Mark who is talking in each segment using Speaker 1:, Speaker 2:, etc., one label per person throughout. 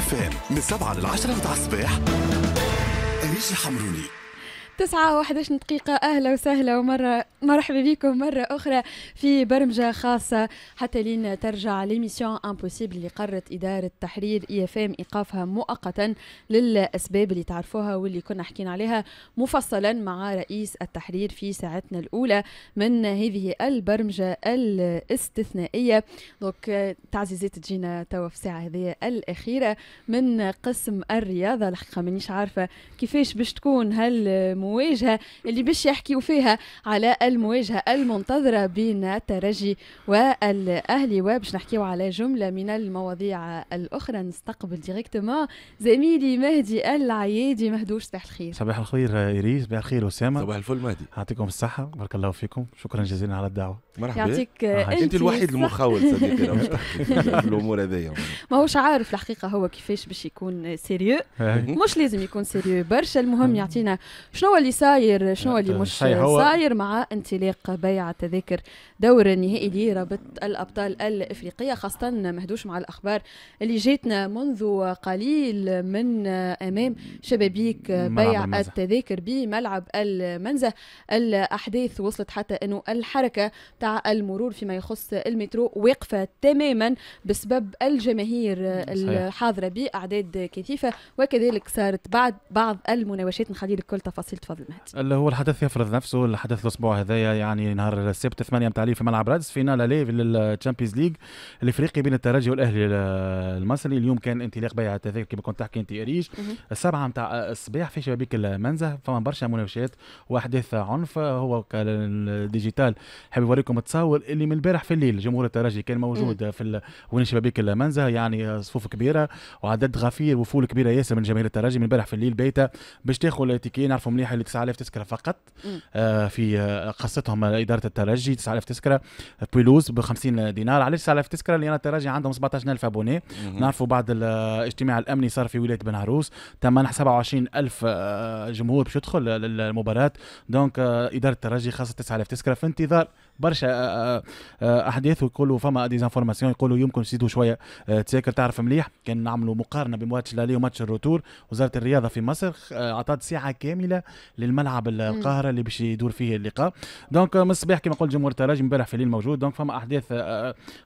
Speaker 1: IFM من 7 ل 10 متاع الصباح. أريج الحمروني.
Speaker 2: 9:11 دقيقة. أهلا وسهلا ومرة مرحبا بكم مرة أخرى في برمجة خاصة حتى لين ترجع l'émission impossible اللي قررت إدارة تحرير IFM إيقافها مؤقتا للأسباب اللي تعرفوها واللي كنا حكينا عليها مفصلا مع رئيس التحرير في ساعتنا الأولى من هذه البرمجة الاستثنائية. donc تعزيزات تجينا توا في الساعة هذه الأخيرة من قسم الرياضة. الحقيقة مانيش عارفة كيفاش باش تكون هل المواجهة اللي باش يحكيوا فيها على المواجهة المنتظرة بين الترجي والأهلي، وباش نحكيو على جملة من المواضيع الأخرى. نستقبل directement زميلي مهدي العيادي. مهدوش، صباح الخير.
Speaker 3: صباح الخير إيريس، صباح الخير أسامة.
Speaker 4: صباح الفل مهدي.
Speaker 3: يعطيكم الصحة، بارك الله فيكم، شكرا جزيلا على الدعوة.
Speaker 4: مرحبا.
Speaker 2: يعطيك
Speaker 4: انت الوحيد المخول صديقي باش تحكي في الامور هذيا.
Speaker 2: ماهوش عارف الحقيقة هو كيفاش باش يكون sérieux، مش لازم يكون sérieux برشا، المهم يعطينا شنو اللي صاير، شنو اللي مش صاير مع انطلاق بيع تذاكر دور النهائي لرابطة الأبطال الإفريقية، خاصة مهدوش مع الأخبار اللي جاتنا منذ قليل من أمام شبابيك بيع التذاكر بملعب المنزه. الأحداث وصلت حتى أنه الحركة تاع المرور فيما يخص المترو واقفة تماما بسبب الجماهير الحاضرة بأعداد كثيفة، وكذلك صارت بعد بعض المناوشات. نخلي لك كل تفاصيل، تفضل مهدي.
Speaker 3: اللي هو الحدث يفرض نفسه، الحدث الاسبوع هذايا يعني نهار السبت 8 متاع في ملعب رادس، finale aller لل Champions League الافريقي بين الترجي والاهلي المصري. اليوم كان انطلاق بيع التذاكر كما كنت تحكي انت اريج 7 متاع الصباح في شبابيك المنزه. فما برشا مناوشات واحداث عنف. هو ال digital حاب يوريكم تصاور اللي من البارح في الليل جمهور الترجي كان موجود في وين شبابيك المنزه، يعني صفوف كبيرة وعدد غفير وفول كبيرة ياسر من جماهير الترجي من البارح في الليل بايته باش تاخذ ال ticket. نعرفوا مليح اللي 9000 تذكره فقط في قصتهم ادارة الترجي 9000 تذكره pelouse ب 50 دينار. علاش 9000 تذكره؟ لان الترجي عندهم 17000 abonnés. نعرفوا بعد الاجتماع الامني صار في ولاية بن عروس تم منح 27000 جمهور باش يدخل للمباراة. donc ادارة الترجي خاصة 9000 تذكره في انتظار برشا احداث، ويقولوا فما des informations يقولوا يمكن يزيدوا شوية تساكر. تعرف مليح كان نعملوا مقارنة بين ماتش l'aller وماتش ال retour، وزارة الرياضة في مصر اعطت ساعة كاملة للملعب القاهرة اللي باش يدور فيه اللقاء. donc من الصباح كما قلت جمهور الترجي امبارح في الليل موجود. donc فما احداث،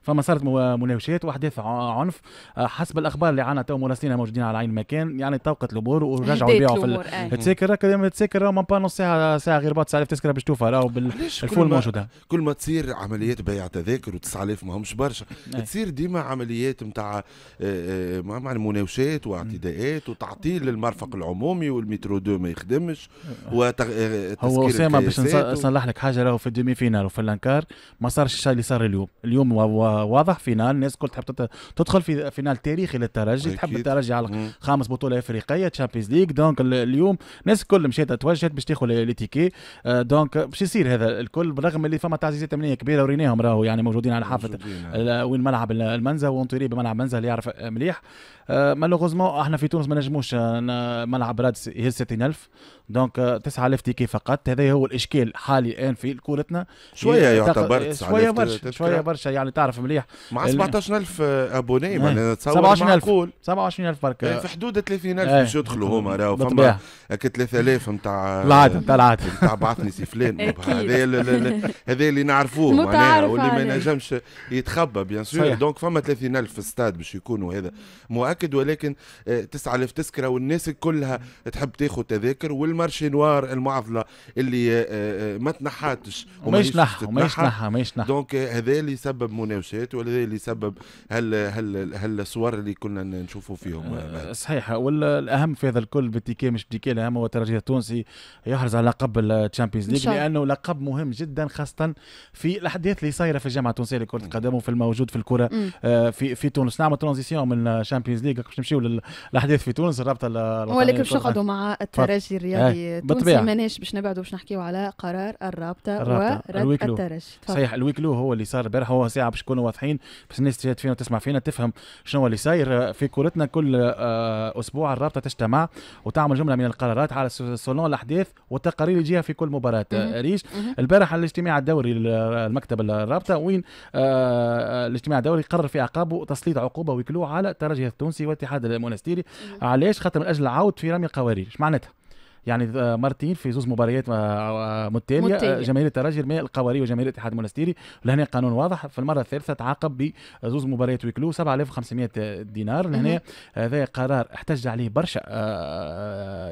Speaker 3: فما صارت مناوشات واحداث عنف حسب الاخبار اللي عندنا تو مراسلين موجودين على عين المكان، يعني توقت الامور ورجعوا يبيعوا في التساكر. التساكر même pas نص ساعة، ساعة غير بعد 9000 تذكره باش توفى راهو بال foule موجودة.
Speaker 4: كل ما تصير عمليات بيع تذاكر و9000 ما همش برشا، تصير ديما عمليات نتاع مع مناوشات واعتداءات وتعطيل للمرفق العمومي والمترو deux ما يخدمش.
Speaker 3: هو اسامة باش نصلح لك حاجة، راهو في ال demi-finale وفي ال quart ما صارش الشيء اللي صار اليوم. اليوم واضح finale، الناس الكل تحب تدخل في finale تاريخي للترجي، تحب الترجي على خامس بطوله افريقية Champions League. donc اليوم الناس الكل مشات توجهت باش تاخذ les tickets. donc باش يصير هذا الكل بالرغم اللي فما تعزيزات امنية كبيرة وريناهم راهو يعني موجودين على حافة وين ملعب المنزه و entouré بملعب منزه اللي يعرف مليح. malheureusement احنا في تونس ما نجموش ملعب رادس يهز 60000، donc 9000 tickets فقط. هذا هو الاشكال حالي الان في كورتنا.
Speaker 4: شوية يعتبر
Speaker 3: شوية برشا، شوية برشا يعني تعرف مليح
Speaker 4: مع 17000 abonnés معناها تصور معقول
Speaker 3: 27000 برك
Speaker 4: في حدود 30000 باش يدخلوا هما راهو فما هكا 3000 نتاع
Speaker 3: العادة نتاع العادة
Speaker 4: نتاع بعثني سي فلان. هذا اللي نعرفوه معناها واللي ما ينجمش يتخبى bien sûr. donc فما 30000 في الستاد باش يكونوا، هذا مؤكد، ولكن 9000 تذكره والناس كلها تحب تاخذ تذاكر. وال marché noir المعضلة اللي ما تنحاتش
Speaker 3: وما يشنحها وما يشنحها ما يشنحها.
Speaker 4: donc هذا اللي سبب مناوشات وهذا اللي سبب هل الصور اللي كنا نشوفوا فيهم.
Speaker 3: صحيح. والاهم في هذا الكل بال ticket مش بال ticket، الاهم هو الترجي التونسي يحرز على لقب ال Champions League، لانه لقب مهم جدا خاصة في الاحداث اللي صايرة في الجامعة التونسية لكرة القدم وفي الموجود في الكره في تونس. نعمل transition من ال Champions League باش نمشيو للاحداث في تونس الرابطة
Speaker 2: الوطنية، ولكن باش نقعدوا مع الترجي الرياضي. الرياضي التونسي، ماناش باش نبعدوا باش نحكيو على قرار الرابطة ورد الترجي.
Speaker 3: صحيح، ال huis clos هو اللي صار البارح، هو ساعة باش نكونوا واضحين باش الناس تشاهد فينا وتسمع فينا تفهم شنو اللي صاير في كورتنا. كل اسبوع الرابطة تجتمع وتعمل جملة من القرارات على selon الاحداث والتقارير اللي تجيها في كل مباراة. ريش البارح الاجتماع الدوري المكتب الرابطة، وين الاجتماع الدوري قرر في اعقابه تسليط عقوبه huis clos على الترجي التونسي والاتحاد المونستيري. علاش؟ خاطر من اجل العود في رمي القوارير. ايش معناتها؟ يعني مرتين في زوز مباريات متتالية جماهير الترجي رمي القوارير وجماهير الاتحاد المونستيري. لهنا قانون واضح. في المرة الثالثة تعاقب بزوز مباريات huis clos 7500 دينار. لهنا هذا قرار احتج عليه برشا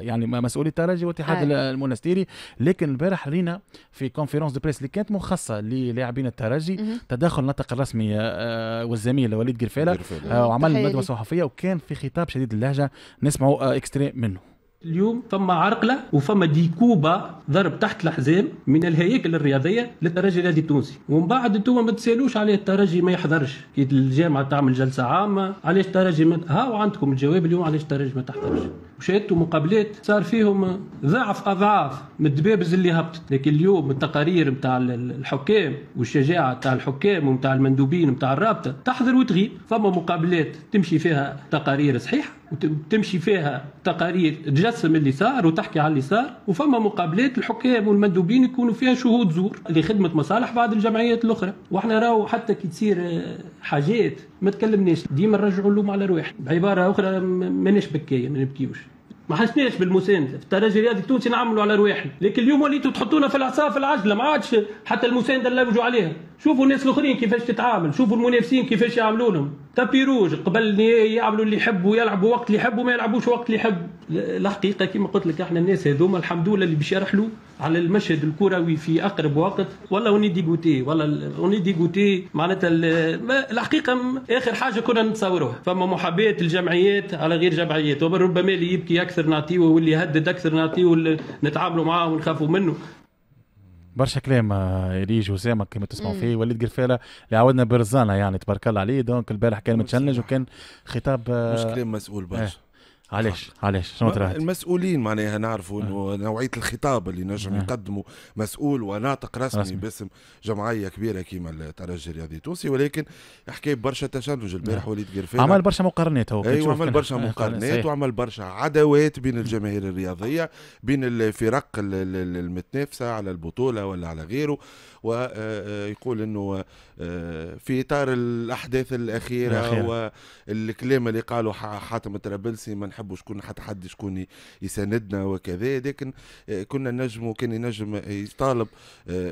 Speaker 3: يعني مسؤولي الترجي والاتحاد المونستيري. لكن البارح رينا في conférence de presse اللي كانت مخصصة للاعبين الترجي تدخل الناطق الرسمي والزميل وليد قرفاله وعمل ندوه صحفية، وكان في خطاب شديد اللهجة نسمعوا extrait منه.
Speaker 5: اليوم فما عرقله وفما des coups bas ضرب تحت الحزام من الهياكل الرياضية للترجي الرياضي التونسي، ومن بعد انتم ما تسالوش عليه الترجي ما يحضرش كي الجامعة تعمل جلسه عامة، علاش الترجي ما هاو عندكم الجواب اليوم علاش الترجي ما تحضرش. وشاهدتوا مقابلات صار فيهم ضعف اضعاف من الدبابز اللي هبطت، لكن اليوم التقارير نتاع الحكام والشجاعة نتاع الحكام ونتاع المندوبين نتاع الرابطة تحضر وتغيب. فما مقابلات تمشي فيها تقارير صحيحه وتمشي فيها تقارير تجسم اللي صار وتحكي على اللي صار، وفما مقابلات الحكام والمندوبين يكونوا فيها شهود زور لخدمة مصالح بعض الجمعيات الاخرى. واحنا راهو حتى كي تصير حاجات ما تكلمناش، ديما نرجعوا اللوم على رواحنا. بعبارة اخرى ماناش بكايه، ما نبكيوش، ما حسناش بالمسانده في الترجي الرياضي التونسي نعملوا على رواحنا، لكن اليوم وليتوا تحطونا في العصا في العجلة، ما عادش حتى المساندة نلوجوا عليها. شوفوا الناس الاخرين كيفاش تتعامل، شوفوا المنافسين كيفاش يعملوا لهم tapis rouge قبل يعملوا اللي يحبوا، يلعبوا وقت اللي يحبوا ما يلعبوش وقت اللي يحبوا. الحقيقة كما قلت لك احنا الناس هذوما الحمد لله اللي باش يرحلوا على المشهد الكروي في اقرب وقت. والله on est dégoûté، والله on est dégoûté معناتها. الحقيقة اخر حاجة كنا نتصوروها فما محاباة الجمعيات على غير جمعيات، وربما اللي يبكي اكثر نعطيه واللي يهدد اكثر نعطيه نتعاملوا معاه ونخافوا منه.
Speaker 3: برشا كلام ريج وسامة كما تسمعوا فيه. وليد قرفاله اللي عودنا برزانه يعني تبارك الله عليه. donc البارح كان متشنج وكان خطاب
Speaker 4: مش كلام مسؤول برشا.
Speaker 3: علاش علاش شنو ترى
Speaker 4: المسؤولين معناها نعرفوا انه نوعية الخطاب اللي نجم يقدمه مسؤول وناطق رسمي باسم جمعية كبيرة كيما الترجي الرياضي التونسي، ولكن حكى برشا تشنج البارح وليد قرفاله.
Speaker 3: عمل برشا مقارنات هو،
Speaker 4: ايوه عمل برشا مقارنات وعمل برشا عداوات بين الجماهير الرياضية، بين الفرق المتنافسه على البطولة ولا على غيره، ويقول انه في اطار الاحداث الاخيرة والكلام اللي قاله حاتم الطرابلسي ما نحبوا شكون حتى حد شكون يساندنا وكذا، لكن كنا نجم وكان ينجم يطالب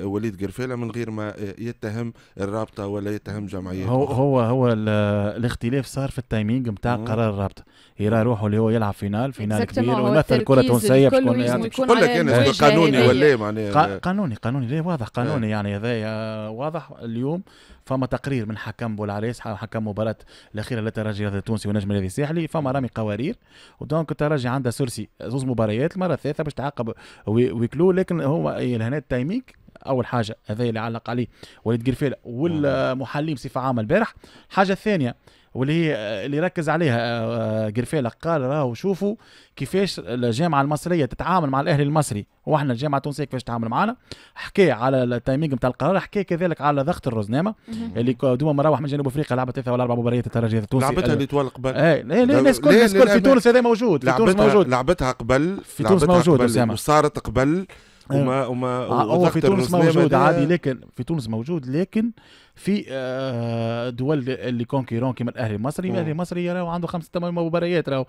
Speaker 4: وليد قرفاله من غير ما يتهم الرابطة ولا يتهم جمعيات.
Speaker 3: هو الاختلاف صار في ال timing نتاع قرار الرابطة، يرى روحه اللي هو يلعب finale كبير ويمثل الكره التونسية
Speaker 4: باش يكون لك انا قانوني ولا معناها
Speaker 3: قانوني ليه واضح قانوني يعني هذا واضح. اليوم فما تقرير من حكم بولعريس حكم مباراة الاخيرة للترجي التونسي ونجم النادي الساحلي، فما رامي قوارير و donc الترجي عنده sursis زوز مباريات، المرة الثالثة باش تعاقب huis clos. لكن هو هنا ال timing اول حاجة هذا اللي علق عليه وليد قرفاله والمحللين بصفة عامة البارح. الحاجة الثانية واللي هي اللي ركز عليها قرفاله قال راهو شوفوا كيفاش الجامعة المصرية تتعامل مع الاهلي المصري واحنا الجامعة التونسية كيفاش تتعامل معنا. حكى على ال timing نتاع القرار، حكى كذلك على ضغط الرزنامه اللي دوما مروح من جنوب افريقيا لعبت 3 ولا 4 مباريات الترجي التونسي
Speaker 4: لعبتها اللي طوال قبل.
Speaker 3: اي لا الناس الكل في تونس هذا موجود، في تونس موجود،
Speaker 4: لعبتها قبل
Speaker 3: في تونس موجود
Speaker 4: وصارت قبل وما
Speaker 3: هو في تونس موجود عادي، لكن في تونس موجود، لكن في دول اللي concurrents كيما الاهلي المصري. الاهلي المصري راهو عنده 5 8 مباريات راهو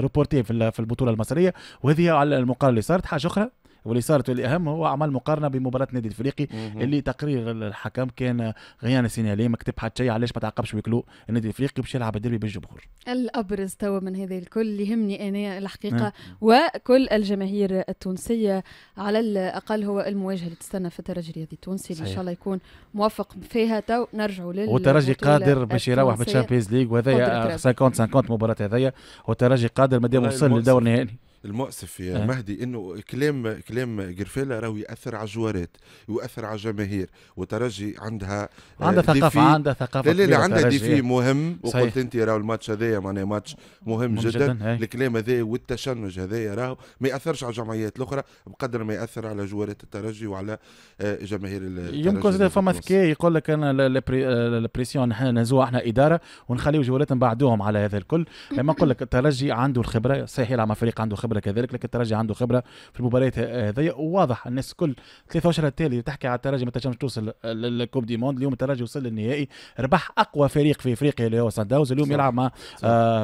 Speaker 3: reportées في البطولة المصرية، وهذه على المقارنة اللي صارت. حاجة اخرى واللي صارت واللي اهم هو عمل مقارنة بمباراة النادي الافريقي اللي تقرير الحكم كان rien à signaler، ما كتب حتى شيء، علاش ما تعاقبش huis clos النادي الافريقي باش يلعب الديربي بالجمهور.
Speaker 2: الابرز توا من هذا الكل اللي يهمني انا الحقيقة وكل الجماهير التونسية على الاقل هو المواجهة اللي تستنى في الترجي الرياضي التونسي اللي ان شاء الله يكون موفق فيها. تو نرجعوا لل
Speaker 3: والترجي قادر باش يروح بال Champions League، وهذايا 50 50 مباراة هذايا، والترجي قادر مادام وصل للدور النهائي.
Speaker 4: المؤسف يا مهدي انه كلام قرفالة راهو ياثر على الجوارات، يؤثر على الجماهير، وترجي عندها
Speaker 3: ثقافة، عندها ثقافة.
Speaker 4: لا لا عندها défi مهم. وقلت انت راهو الماتش هذايا معناها ماتش مهم جدا. الكلام هذا والتشنج هذايا راهو ما ياثرش على الجمعيات الاخرى بقدر ما ياثر على جوارات الترجي وعلى جماهير الترجي.
Speaker 3: يمكن زاد فما ذكاء يقول لك انا ال pression نحن نهزوها احنا ادارة ونخليو جوارات نبعدوهم على هذا الكل. لما نقول لك الترجي عنده الخبرة، صحيح يلعب مع فريق عنده خبره كذلك، لكن الترجي عنده خبره في المباريات هذيا، وواضح الناس كل 3 اشهر التالي تحكي على الترجي ما تنجمش توصل لل coupe du monde. اليوم الترجي وصل للنهائي، ربح اقوى فريق في افريقيا اللي هو سان داونز، اليوم يلعب مع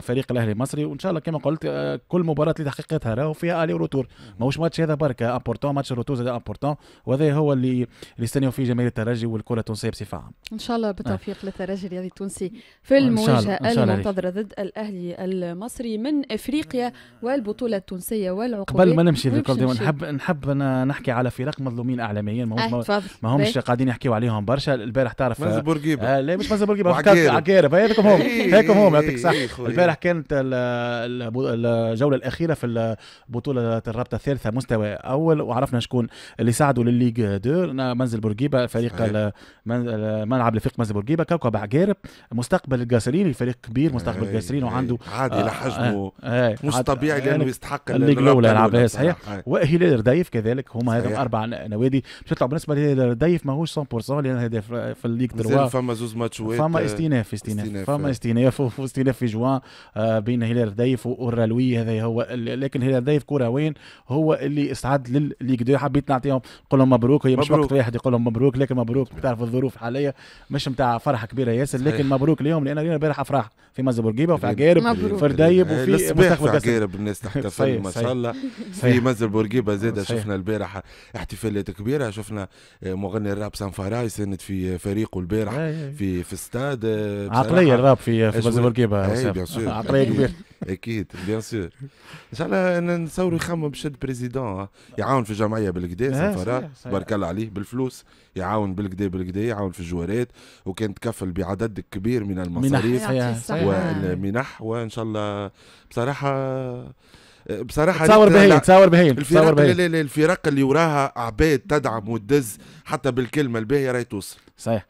Speaker 3: فريق الاهلي المصري، وان شاء الله كما قلت كل مباراة اللي تحقيقتها راهو فيها aller-retour، ماهوش ماتش هذا بركة important، match retour زاد important، وهذا هو اللي يستنيو فيه جماهير الترجي والكره التونسية بصفة عامة.
Speaker 2: ان شاء الله بالتوفيق للترجي الرياضي التونسي في المواجهة المنتظره ضد الاهلي المصري من افريقيا والبطوله التونسية والعقوبات.
Speaker 3: قبل ما نمشي نحب نحكي على فرق مظلومين اعلاميا، ما همش قاعدين يحكيوا عليهم برشا. البارح تعرف
Speaker 4: منزل بورقيبة،
Speaker 3: لا مش منزل بورقيبة، عقارب، هذاكم هم هيكم هم، يعطيك صح. البارح كانت الجولة الاخيرة في بطوله الرابطة الثالثة مستوى اول، وعرفنا شكون اللي ساعدوا للل Ligue 2، منزل بورقيبة فريق ملعب لفريق منزل بورقيبة، كوكب عقارب، مستقبل القاسرين، الفريق كبير مستقبل القاسرين وعنده
Speaker 4: عادي لحجمه مش طبيعي لانه يستحق
Speaker 3: ال Ligue الاولى يلعبها صحيح. وهلال رديف كذلك، هما هذم اربع نوادي باش يطلعوا. بالنسبة لهلال رديف ماهوش 100% لان هذا في ال Ligue 3
Speaker 4: فما زوز ماتشات،
Speaker 3: فما استئناف فما استئناف في جوان بين هلال رديف والرالوي، هذا هو. لكن هلال رديف كرويا هو اللي استعد للل Ligue 2. حبيت نعطيهم نقول لهم مبروك، هي مش وقت واحد يقول لهم مبروك، لكن مبروك تعرف الظروف الحالية مش نتاع فرحه كبيرة ياسر، لكن مبروك ليهم لان رينا البارح افراح في منزل بورقيبة وفي عقارب وفي رديب وفي مستقبل
Speaker 4: عقارب، الناس تحتفل ما شاء الله. في منزل بورقيبة زاد شفنا البارح احتفالات كبيرة، شفنا مغني الراب سانفارا يساند في فريقه البارح في استاد.
Speaker 3: عقلية الراب في منزل بورقيبة عقلية كبيرة
Speaker 4: اكيد bien sûr. ان شاء الله نصوروا يخمم باش président يعاون في الجمعية بالكدا، سانفارا بارك الله عليه بالفلوس يعاون بالكدا بالكدا، يعاون في الجوارات، وكان تكفل بعدد كبير من المصاريف والمنح، وان شاء الله بصراحة
Speaker 3: تصور بهين، تصور بهين
Speaker 4: الفرق اللي وراها عباد تدعم وتدز حتى بالكلمة الباهيه راهي توصل.
Speaker 3: صحيح.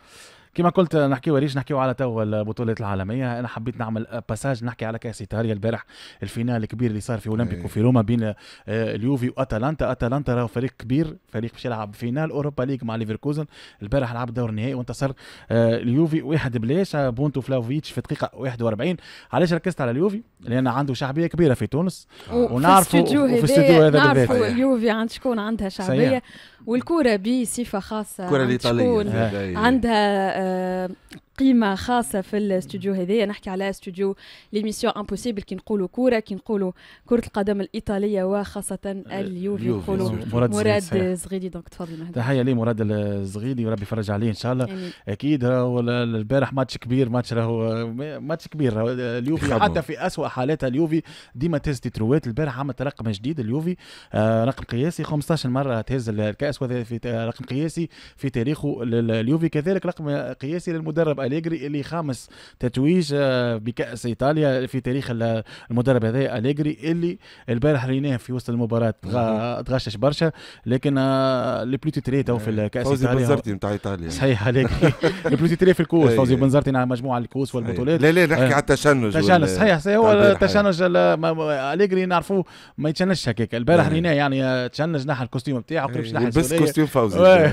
Speaker 3: كما قلت نحكيو ريش، نحكيو على تو البطولات العالمية. انا حبيت نعمل passage نحكي على كاس ايطاليا البارح، ال finale الكبير اللي صار في اولمبيكو في روما بين اليوفي واتلانتا. اتلانتا راهو فريق كبير، فريق باش يلعب finale Europa League مع ليفركوزن. البارح لعب دور النهائي وانتصر اليوفي 1-0 بونتو فلاوفيتش في دقيقة 41. علاش ركزت على اليوفي؟ لان عنده شعبية كبيرة في تونس، ونعرفوا في الاستوديو هذا بالذات
Speaker 2: اليوفي عند شكون عندها شعبية، والكره بصفة خاصة
Speaker 4: الكره الايطالية
Speaker 2: عندها قيمة خاصة في الاستوديو هذايا. نحكي على استوديو l'émission impossible، كي نقولوا كورة، كي نقولوا كرة القدم الإيطالية وخاصة اليوفي نقولوا مراد الزغيدي. donc تفضل مهدي.
Speaker 3: تحية لي مراد الزغيدي وربي يفرج عليه إن شاء الله. يعني. أكيد راهو البارح ماتش كبير، ماتش راهو ماتش كبير اليوفي حتى في أسوأ حالاتها اليوفي ديما تهز تيتروات. البارح عملت رقم جديد اليوفي، رقم قياسي 15 مرة تهز الكأس، وهذا في رقم قياسي في تاريخه اليوفي. كذلك رقم قياسي للمدرب أليجري اللي خامس تتويج بكأس إيطاليا في تاريخ المدرب هذا أليجري، اللي البارح ريناه في وسط المباراة تغشش برشا، لكن le plus titré تو في الكأس
Speaker 4: فوزي بنزرتي نتاع إيطاليا.
Speaker 3: صحيح أليجري le plus titré في الكوس، فوزي بنزرتي على مجموعة الكوس والبطولات.
Speaker 4: لا لا نحكي على التشنج.
Speaker 3: تشنج صحيح، صحيح هو التشنج أليجري نعرفوه ما يتشنجش هكاك. البارح ريناه يعني تشنج، نحى ال costume نتاعو قريب نحى
Speaker 4: بس costume فوزي.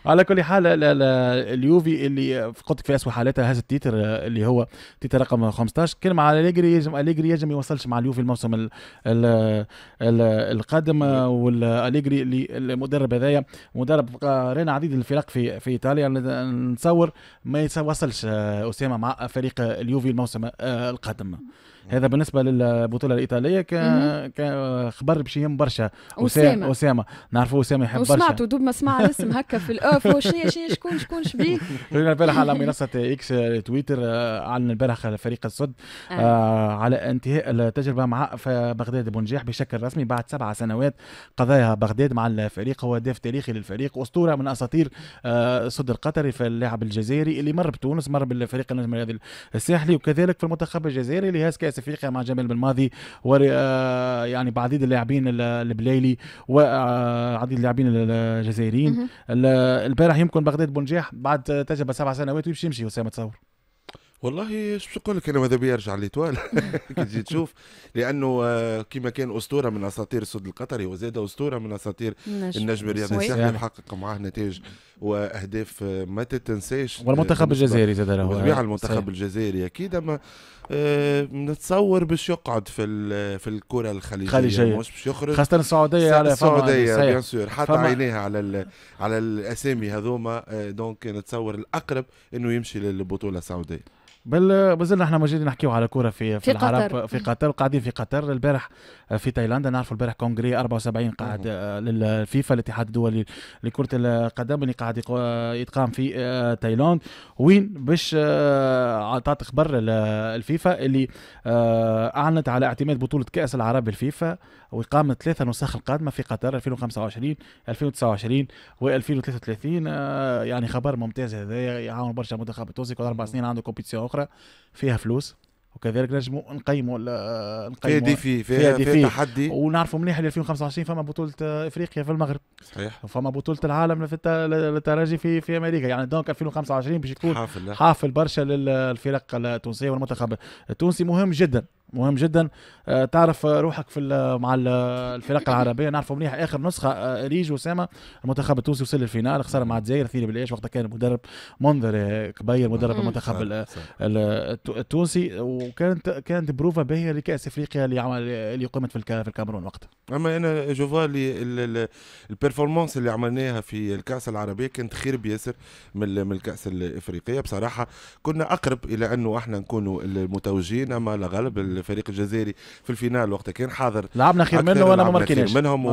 Speaker 3: على كل حال اليوفي اللي قلت في اسوء حالاتها هذا ال titre اللي هو titre رقم 15. كلمة على أليجري، يجم أليجري يجم يوصلش مع اليوفي الموسم القادم. والأليجري اللي المدرب هذايا مدرب رينا عديد الفرق في ايطاليا، نتصور ما يوصلش اسامة مع فريق اليوفي الموسم القادم. هذا بالنسبة للبطولة الايطالية كخبر باش يهم برشا اسامة نعرفوا اسامة يحب برشا،
Speaker 2: وسمعته دوب ما سمع الاسم هكا في ال off شنو شكون شبيه.
Speaker 3: البارح على منصة اكس تويتر اعلن البارح فريق السد على انتهاء التجربة مع بغداد بونجاح بشكل رسمي بعد 7 سنوات قضاها بغداد مع الفريق. هو هداف تاريخي للفريق، اسطورة من اساطير السد القطري، في اللاعب الجزائري اللي مر بتونس، مر بالفريق النجم الرياضي الساحلي، وكذلك في المنتخب الجزائري اللي هاز كاس كاس افريقيا مع جمال بالماضي، و يعني بعديد اللاعبين البلايلي وعديد اللاعبين الجزائريين. البارح يمكن بغداد بونجاح بعد تجربه 7 سنوات ويمشي يمشي اسامة تصور.
Speaker 4: والله ايش باش نقول لك، انا ماذا بيا يرجع l'Étoile كي تجي تشوف، لانه كما كان اسطورة من اساطير السد القطري وزاد اسطورة من اساطير النجم الرياضي الساحلي، حقق معاه نتائج واهداف ما تتنساش.
Speaker 3: والمنتخب الجزائري زاد
Speaker 4: له بالطبيعة المنتخب الجزائري اكيد، اما نتصور باش يقعد في الكره الخليجية، مش باش يخرج،
Speaker 3: خاصة السعودية.
Speaker 4: على السعودية bien sûr حتى عينيها على الاسامي هذوما، donc نتصور الاقرب انه يمشي للبطولة السعودية.
Speaker 3: بل مازلنا احنا موجودين نحكيو على كورة في العرب قطر. في قطر قاعدين في قطر، البارح في تايلاندا نعرفوا البارح congrès 74 قاعد للفيفا الاتحاد الدولي لكرة القدم اللي قاعد يتقام في تايلاند، وين باش عطات خبر الفيفا اللي اعلنت على اعتماد بطوله كاس العرب الفيفا واقامه 3 نسخ القادمة في قطر 2025 2029 و2033. يعني خبر ممتاز هذا، يعاون برشا المنتخب التونسي، كل 4 سنين عنده compétition اخرى فيها فلوس، وكذلك نجموا نقيموا
Speaker 4: فيها défi، فيها تحدي،
Speaker 3: ونعرفوا مليح 2025 فما بطولة افريقيا في المغرب،
Speaker 4: صحيح،
Speaker 3: وفما بطولة العالم في للترجي في امريكا، يعني donc 2025 باش يكون حافل برشا للفرق التونسية والمنتخب التونسي. مهم جدا، مهم جدا تعرف روحك في مع الفرق العربية. نعرفوا مليح اخر نسخه ريج وسامة المنتخب التونسي وصل لل finale، خسر مع الجزائر 2 بلاش، وقتها كان مدرب منذر كبير مدرب المنتخب التونسي، وكانت بروفا باهيه لكاس افريقيا اللي قيمت في الكاميرون وقتها.
Speaker 4: اما انا je vois ال performance اللي عملناها في الكاس العربية كانت خير بياسر من الكاس الافريقية بصراحة، كنا اقرب الى انه احنا نكونوا المتوجين، اما لا غالب الفريق الجزائري في ال finale وقتها كان حاضر،
Speaker 3: لعبنا خير منه ولا ما ماركيناش
Speaker 4: منهم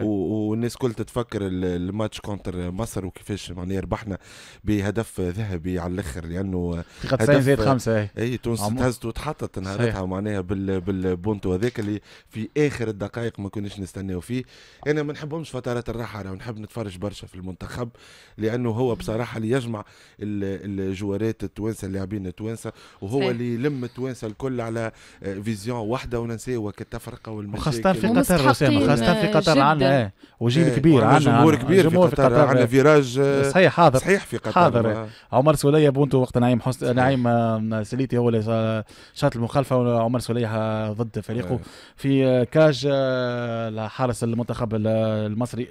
Speaker 4: والناس كل تتفكر ال match contre مصر وكيفاش معناها ربحنا بهدف ذهبي على الاخر، لانه
Speaker 3: هدف زائد 5
Speaker 4: اي تونس تهزت وتحطت نهارتها معناها بالبونتو هذاك اللي في اخر الدقائق ما كناش نستناو فيه. انا ما نحبهمش فترات الراحة، انا نحب نتفرج برشا في المنتخب، لانه هو بصراحة اللي يجمع الجوارات التوانسة اللاعبين التوانسة، وهو اللي يلم التوانسة الكل على vision واحدة وننساو التفرقة والمشاكل،
Speaker 3: وخاصة في قطر اسامة، خاصة في قطر عندنا وجيل كبير، عندنا
Speaker 4: جمهور كبير في قطر، عندنا virage
Speaker 3: صحيح حاضر،
Speaker 4: صحيح في قطر
Speaker 3: حاضر. عمر سوليه بونتو وقت نعيم حسن نعيم سليتي هو اللي شاط المخالفة، وعمر سوليه ضد فريقه في cage حارس المنتخب المصري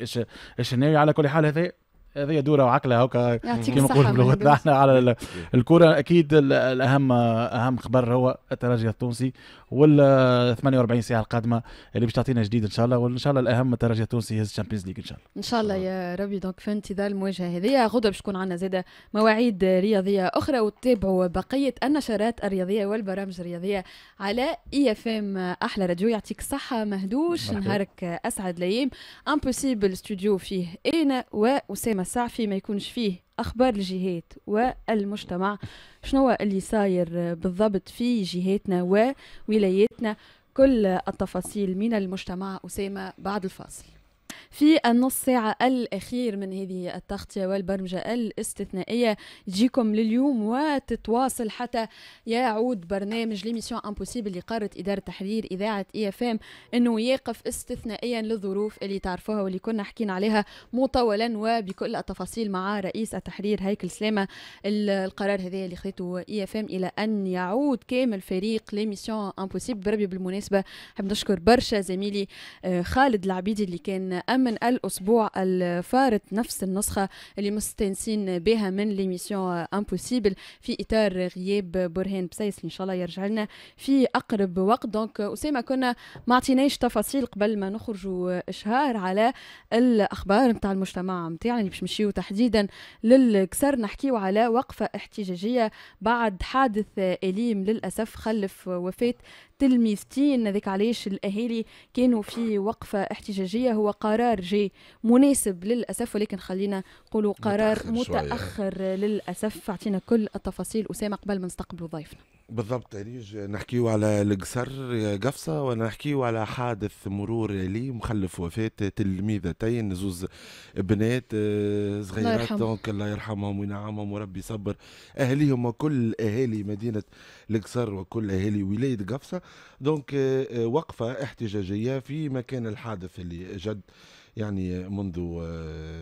Speaker 3: الشناوي. على كل حال هذه دوره وعقله هكا كما نقولوا بلغتنا احنا على الكره. اكيد الاهم اهم خبر هو الترجي التونسي وال 48 ساعة القادمة اللي باش تعطينا جديد ان شاء الله، وان شاء الله الاهم الترجي التونسي يهز ال Champions League ان شاء الله.
Speaker 2: ان شاء الله يا ربي. donc في انتظار المواجهة هذه غدا باش تكون عندنا زاده مواعيد رياضية اخرى، وتتابعوا بقية النشرات الرياضية والبرامج الرياضية على IFM احلى راديو. يعطيك الصحة مهدوش، نهارك اسعد الايام. Impossible studio فيه انا واسامة السعفي، ما يكونش فيه أخبار الجهات والمجتمع، شنو اللي صاير بالضبط في جهاتنا وولاياتنا، كل التفاصيل من المجتمع أسامة بعد الفاصل. في النص ساعة الأخير من هذه التغطية والبرمجة الاستثنائية تجيكم لليوم وتتواصل حتى يعود برنامج l'émission Impossible اللي قررت إدارة تحرير إذاعة IFM أنه يقف استثنائيا للظروف اللي تعرفوها واللي كنا حكينا عليها مطولا وبكل التفاصيل مع رئيس التحرير هيكل سلامة. القرار هذا اللي خذته IFM إلى أن يعود كامل فريق l'émission Impossible. بربي بالمناسبة حاب نشكر برشا زميلي خالد العبيدي اللي كان أمن الأسبوع الفارط نفس النسخة اللي مستانسين بها من l'émission Impossible في إطار غياب برهان بسيس، إن شاء الله يرجع لنا في أقرب وقت. donc أسامة كنا ما عطيناش تفاصيل قبل ما نخرجوا إشهار على الأخبار نتاع المجتمع نتاعنا اللي باش نمشيو تحديدا للكسر، نحكيو على وقفة احتجاجية بعد حادث أليم للأسف خلف وفاة تلميذتين، هذاك علاش الأهالي كانوا في وقفة احتجاجية. هو قرار جاي مناسب للأسف، ولكن خلينا نقولوا قرار متأخر للأسف. أعطينا كل التفاصيل أسامة قبل ما نستقبلوا ضيفنا.
Speaker 4: بالضبط أريج، نحكيو على القصر قفصة ونحكيو على حادث مرور لي مخلف وفاة تلميذتين، زوز بنات صغيرات، donc الله يرحمهم وينعمهم وربي يصبر أهاليهم وكل أهالي مدينة القصر وكل أهالي ولاية قفصة. donc وقفة احتجاجية في مكان الحادث اللي جد يعني منذ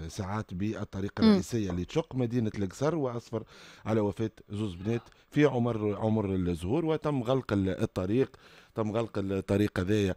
Speaker 4: ساعات بالطريقة الرئيسية اللي تشق مدينة القصر، وأسفر على وفاة زوز بنات في عمر الزهور، وتم غلق الطريق، تم غلق الطريق هذايا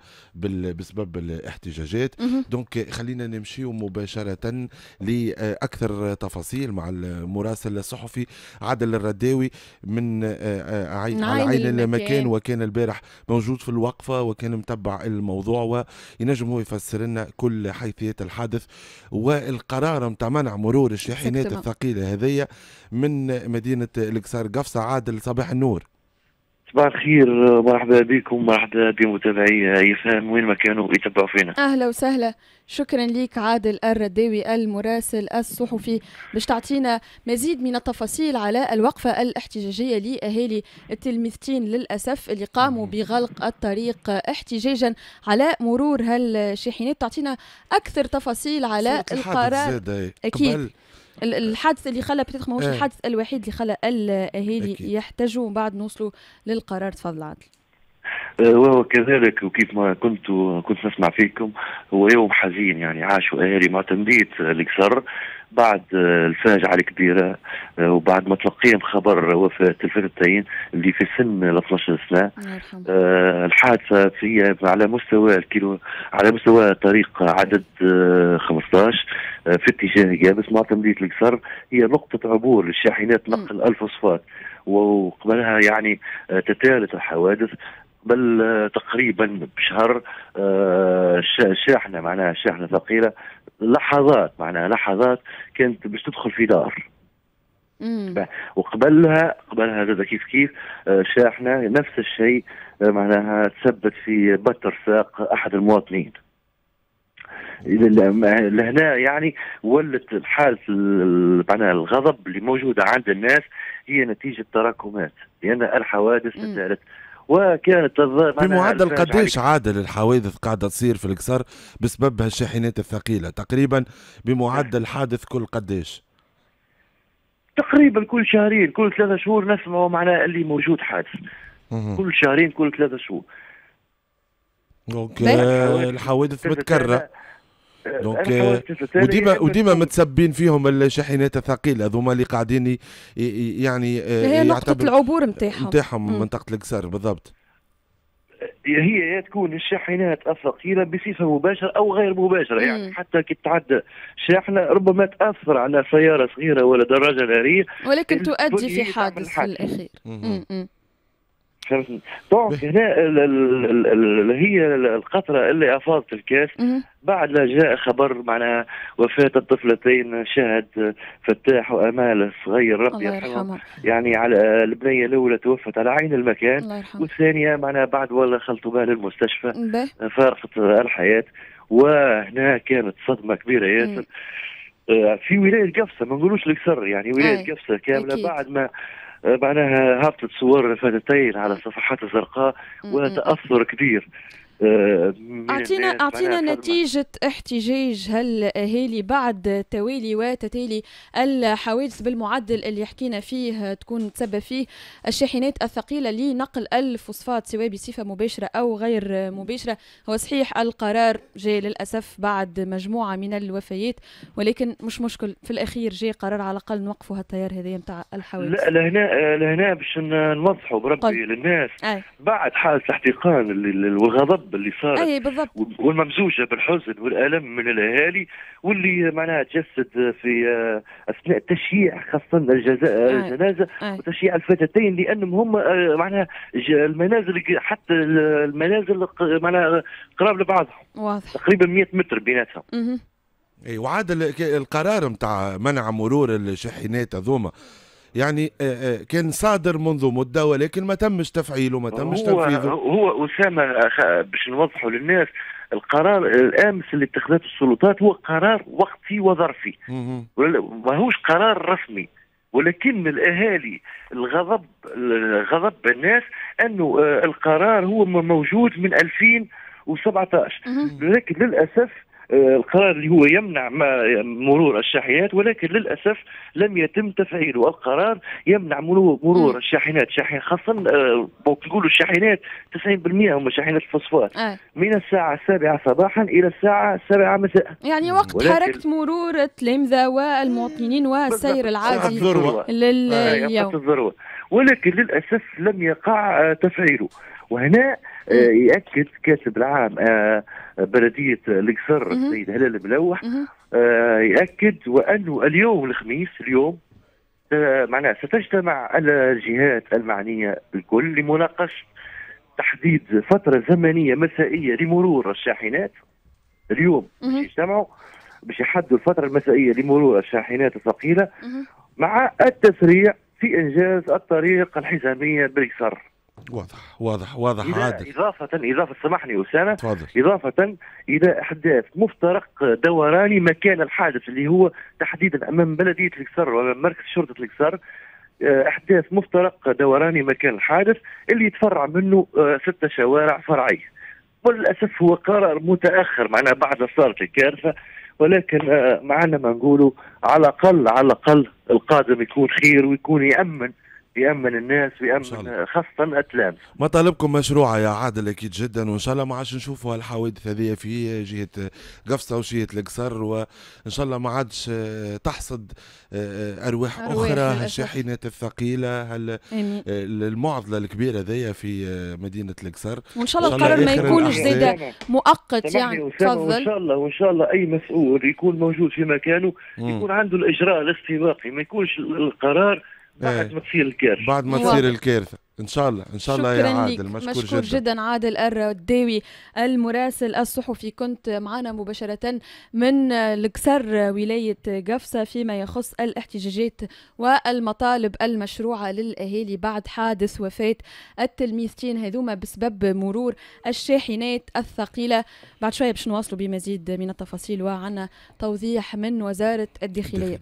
Speaker 4: بسبب الاحتجاجات. donc خلينا نمشيو مباشرة لأكثر تفاصيل مع المراسل الصحفي عادل الرداوي من على عين المكان، وكان البارح موجود في الوقفة وكان متبع الموضوع، وينجم هو يفسر لنا كل حيثيات الحادث والقرار متاع منع مرور الشاحنات الثقيلة هذية من مدينة القصر قفصة. عادل، صباح النور.
Speaker 6: صباح الخير، مرحبا بكم، مرحبا بمتابعي يفهم وين ما كانوا يتبعوا فينا.
Speaker 2: اهلا وسهلا، شكرا لك عادل الرداوي المراسل الصحفي باش تعطينا مزيد من التفاصيل على الوقفة الاحتجاجية لأهالي التلميذتين للأسف اللي قاموا بغلق الطريق احتجاجا على مرور هالشاحنات. تعطينا أكثر تفاصيل على القرار. أكيد الحادث اللي خلى peut-être ماهوش الحادث الوحيد اللي خلى الاهالي يحتجوا، ومن بعد نوصلوا للقرار. تفضل عادل.
Speaker 6: وهو كذلك، وكيف ما كنت نسمع فيكم، هو يوم حزين يعني عاشوا اهالي معتمدية القصر بعد الفاجعة الكبيرة، وبعد ما تلقيهم خبر وفاة الفتاتين اللي في سن ال 12 سنة. الحادثة في على مستوى الكيلو، على مستوى طريق عدد 15 في اتجاه قابس معتمدية القصر، هي نقطة عبور للشاحنات نقل الفوسفات، وقبلها يعني تتالت الحوادث. بل تقريبا بشهر شاحنة، معناها شاحنة ثقيلة، لحظات معناها لحظات كانت باش تدخل في دار. وقبلها هذا كيف كيف شاحنة نفس الشيء، معناها تثبت في بتر ساق احد المواطنين. لهنا يعني ولت حاله معناها الغضب اللي موجودة عند الناس هي نتيجة تراكمات، لان الحوادث تتالت. وكانت
Speaker 4: بمعدل قديش عادل الحوادث قاعدة تصير في القصر بسبب هالشاحنات الثقيلة؟ تقريبا بمعدل حادث كل قديش؟
Speaker 6: تقريبا كل شهرين كل 3 شهور نسمعوا معناها اللي موجود حادث. كل شهرين كل 3 شهور.
Speaker 4: donc الحوادث متكررة. donc وديما متسبين فيهم الشاحنات الثقيلة هذوما اللي قاعدين يعني
Speaker 2: هي نقطة العبور نتاعهم
Speaker 4: منطقة القصر بالضبط.
Speaker 6: هي تكون الشاحنات الثقيلة بصفة مباشرة او غير مباشرة، يعني حتى كي تعدى شاحنة ربما تاثر على سيارة صغيرة ولا دراجة نارية،
Speaker 2: ولكن تؤدي في حادث في الاخير.
Speaker 6: فهمتني؟ donc هنا هي القطرة اللي افاضت الكاس بعد لا جاء خبر معناها وفاه الطفلتين شاهد فتاح وامال الصغير ربي يرحمهم، يعني على البنية الاولى توفت على عين المكان، والثانية معناها بعد ولا خلطوا بها للمستشفى فارقت الحياة. وهنا كانت صدمة كبيرة ياسر في ولاية قفصه، ما نقولوش القصر يعني ولاية قفصه كاملة. أكيد. بعد ما معناها هبطت صور الفتاتين على الصفحات الزرقاء وتأثر كبير.
Speaker 2: أعطينا نتيجة احتجاج هالأهالي بعد توالي وتتالي الحوادث بالمعدل اللي حكينا فيه تكون تسبب فيه الشاحنات الثقيلة لنقل الفوسفات سواء بصفة مباشرة أو غير مباشرة. هو صحيح القرار جاء للأسف بعد مجموعة من الوفيات، ولكن مش مشكل، في الأخير جاء قرار على الأقل نوقفوا هالتيار هذا نتاع الحوادث.
Speaker 6: لا لهنا باش نوضحوا بربي للناس. بعد حالة الاحتقان والغضب اللي صارت والممزوجه بالحزن والالم من الاهالي، واللي معناها تجسد في اثناء تشييع خاصة الجنازة وتشييع الفتاتين، لانهم هم معناها المنازل، حتى المنازل معناها قراب لبعضهم، واضح تقريبا 100 متر بيناتهم.
Speaker 4: اي وعاد القرار نتاع منع مرور الشاحنات هذوما يعني كان صادر منذ مدة، ولكن ما تمش تفعيله، ما تمش تنفيذه.
Speaker 6: هو أسامة باش نوضحوا للناس، القرار الأمس اللي اتخذته السلطات هو قرار وقتي وظرفي، ماهوش قرار رسمي. ولكن الاهالي الغضب غضب الناس انه القرار هو موجود من 2017، لكن للاسف القرار اللي هو يمنع مرور الشاحنات، ولكن للاسف لم يتم تفعيله. القرار يمنع مرور الشاحنات، خاصة نقولوا الشاحنات 90% هم شاحنات الفوسفات، من الساعة 7 صباحا الى الساعة 7 مساء،
Speaker 2: يعني وقت حركة مرور التلامذه والمواطنين والسير العادي لليوم.
Speaker 6: الذروة، ولكن للاسف لم يقع تفعيله. وهنا يأكد كاتب العام بلدية القصر السيد هلال ملوح، يأكد وأنه اليوم الخميس اليوم معناها ستجتمع الجهات المعنية الكل لمناقشة تحديد فترة زمنية مسائية لمرور الشاحنات. اليوم باش يجتمعوا باش يحددوا الفترة المسائية لمرور الشاحنات الثقيلة مع التسريع في إنجاز الطريق الحزامية بالقصر.
Speaker 4: واضح واضح واضح عادل.
Speaker 6: إضافة سامحني أسامة، تفضل. إضافة إلى أحداث مفترق دوراني مكان الحادث اللي هو تحديدا أمام بلدية القصر وأمام مركز شرطة القصر، أحداث مفترق دوراني مكان الحادث اللي يتفرع منه 6 شوارع فرعية. وللأسف هو قرار متأخر معناها بعد صارت الكارثة، ولكن معنا ما نقوله على الأقل القادم يكون خير ويكون يأمن الناس ويأمن خاصة التلامذة.
Speaker 4: مطالبكم مشروعة يا عادل أكيد جدا، وإن شاء الله ما عادش نشوفوا هالحوادث هذه في جهة قفصة وجهة القصر، وإن شاء الله ما عادش تحصد أرواح أخرى هالشاحنات الثقيلة، المعضلة الكبيرة ذي في مدينة القصر.
Speaker 2: وإن شاء الله القرار ما يكونش زاد مؤقت يعني.
Speaker 6: تفضل. وإن شاء الله أي مسؤول يكون موجود في مكانه يكون عنده الإجراء الاستباقي، ما يكونش القرار بعد ما تصير الكارثة.
Speaker 4: بعد ما تصير الكارثة إن شاء الله. إن شاء الله يا عادل، مشكور
Speaker 2: جدا عادل الرداوي المراسل الصحفي، كنت معنا مباشرة من القصر ولاية قفصة فيما يخص الاحتجاجات والمطالب المشروعة للأهالي بعد حادث وفاة التلميذتين هذوما بسبب مرور الشاحنات الثقيلة. بعد شوية باش نواصلوا بمزيد من التفاصيل وعنا توضيح من وزارة الداخلية.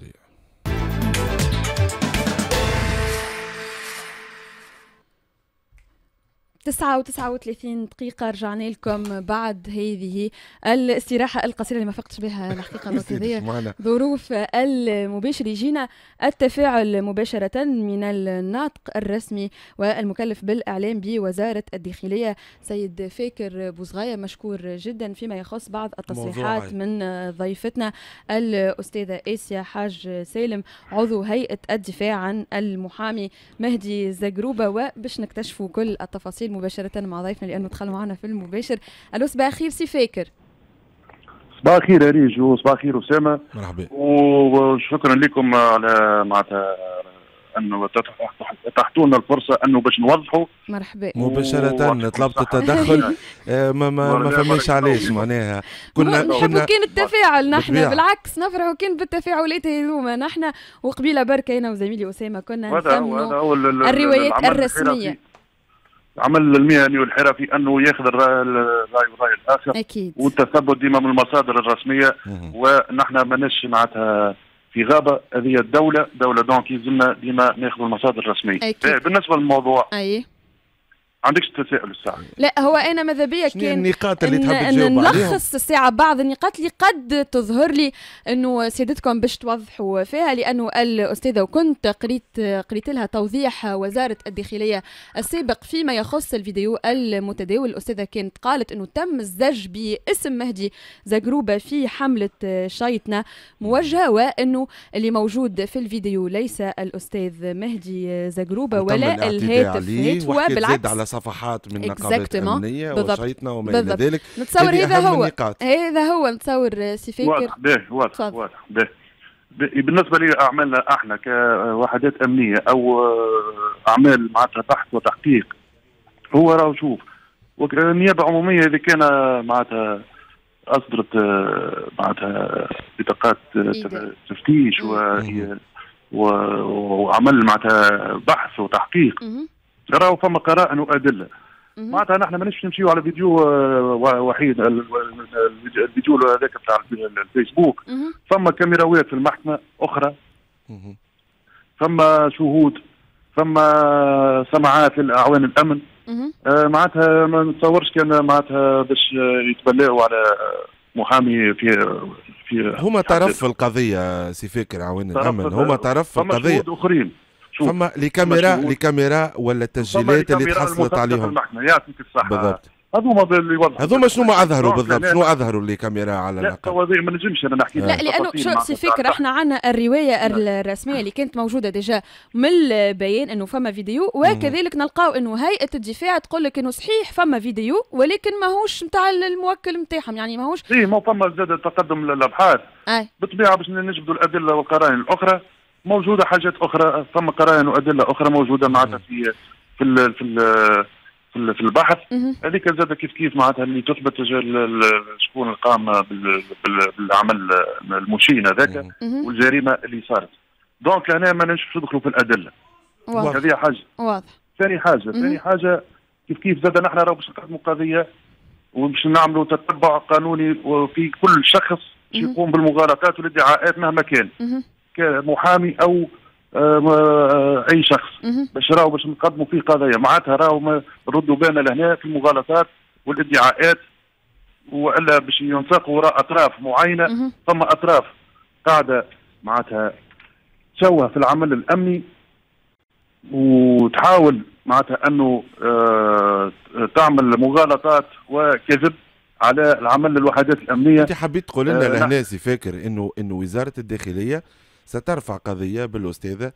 Speaker 2: 9:39 رجعنا لكم بعد هذه الاستراحة القصيرة اللي ما فقتش بها الحقيقة، هذه ظروف المباشر. يجينا التفاعل مباشرة من الناطق الرسمي والمكلف بالإعلام بوزارة الداخلية سيد فاكر بوزغاية، مشكور جدا فيما يخص بعض التصريحات من ضيفتنا الأستاذة آسيا حاج سالم عضو هيئة الدفاع عن المحامي مهدي زقروبة، وباش نكتشفوا كل التفاصيل مباشرة مع ضيفنا لأنه دخل معنا في المباشر. ألو صباح الخير سي فاكر.
Speaker 7: صباح الخير أريج وصباح الخير أسامة.
Speaker 4: مرحبا
Speaker 7: وشكرا لكم على معناتها أنه اتحتوا لنا الفرصة أنه باش نوضحوا.
Speaker 2: مرحبا.
Speaker 4: مباشرة طلبت التدخل ما فماش علاش معناها
Speaker 2: كنا نحبوا كان التفاعل نحن، بالعكس نفرحوا كان بالتفاعلات هذوما نحن. وقبيله بركة أنا وزميلي أسامة كنا نثمنوا الروايات الرسمية.
Speaker 7: العمل المهني والحرفي انه ياخذ الراي والراي الاخر
Speaker 2: اكيد،
Speaker 7: والتثبت ديما من المصادر الرسمية. ونحن ماناش معناتها في غابه، هذه الدولة دولة، donc يلزمنا ديما ناخذ المصادر الرسمية. أكيد. بالنسبة للموضوع اي عندكش تساؤل الساعة؟
Speaker 2: لا هو انا ماذا بيا كان
Speaker 4: النقاط اللي تحب تجاوب عليهم
Speaker 2: نلخص الساعة بعض النقاط اللي قد تظهر لي انه سيادتكم باش توضحوا فيها، لانه الاستاذة وكنت قريت لها توضيح وزارة الداخلية السابق فيما يخص الفيديو المتداول. الاستاذة كانت قالت انه تم الزج باسم مهدي زقروبه في حمله شيطنة موجهة، وانه اللي موجود في الفيديو ليس الاستاذ مهدي زقروبه ولا الهاتف، وبالعكس
Speaker 4: صفحات من نقابات أمنية وشيطنة وما إلى ذلك.
Speaker 2: نتصور هذا هو هذا هو نتصور سي فاكر.
Speaker 7: واضح به واضح واضح به. بالنسبة لأعمالنا احنا كوحدات أمنية أو أعمال معناتها بحث وتحقيق، هو راهو شوف النيابة العمومية إذا كان معناتها أصدرت معناتها بطاقات تفتيش وعمل معناتها بحث وتحقيق، راهو فما قرائن وادلة. معناتها نحن ماناش نمشيو على فيديو وحيد، الفيديو هذاك بتاع الفيسبوك. فما كاميراوات في المحكمة اخرى، فما شهود، فما سماعات للاعوان الامن. معناتها ما نتصورش كان معناتها باش يتبلاو على محامي في
Speaker 4: هما طرف في القضية سي فاكر، اعوان الامن هما طرف في القضية.
Speaker 7: فما شهود اخرين،
Speaker 4: فما les caméras ولا التسجيلات اللي تحصلت عليهم.
Speaker 7: يعطيك الصحة
Speaker 4: بالضبط.
Speaker 7: هذوما اللي يوضحوا،
Speaker 4: هذوما شنو ما اظهروا بالضبط، شنو اظهروا les caméras على
Speaker 7: الاقل؟ لا ما نجمش انا نحكي.
Speaker 2: لا لانه شو سي فكر، احنا عندنا الرواية الرسمية اللي كانت موجودة déjà من البيان انه فما فيديو، وكذلك نلقاو انه هيئة الدفاع تقول لك انه صحيح فما فيديو ولكن ماهوش نتاع الموكل نتاعهم، يعني ماهوش
Speaker 7: اي ما فما زاد تقدم للابحاث بالطبيعة باش نجبدوا الادلة والقرائن الاخرى. موجودة حاجات اخرى، فما قرائن وادلة اخرى موجودة معناتها في في ال في ال في البحث هذيك زاد كيف كيف معناتها اللي تثبت شكون قام بالعمل المشين هذاك والجريمه اللي صارت. donc هنا ما نجمش ندخلوا في الادلة. هذه حاجة
Speaker 2: واضح.
Speaker 7: ثاني حاجة كيف كيف زاد نحن راهو باش نقدموا قضية وباش نعملوا تتبع قانوني في كل شخص يقوم بالمغالطات والادعاءات مهما كان، كمحامي او اي شخص، باش راهو باش نقدموا فيه قضايا. معناتها راهو نردوا بالنا لهنا في المغالطات والادعاءات، والا باش ينساقوا وراء اطراف معينة. ثم اطراف قاعدة معناتها تشوه في العمل الامني وتحاول معناتها انه تعمل مغالطات وكذب على العمل الوحدات الامنية.
Speaker 4: انت حبيت تقول لنا لهنا سي فاكر انه وزارة الداخلية سترفع قضية بالاستاذه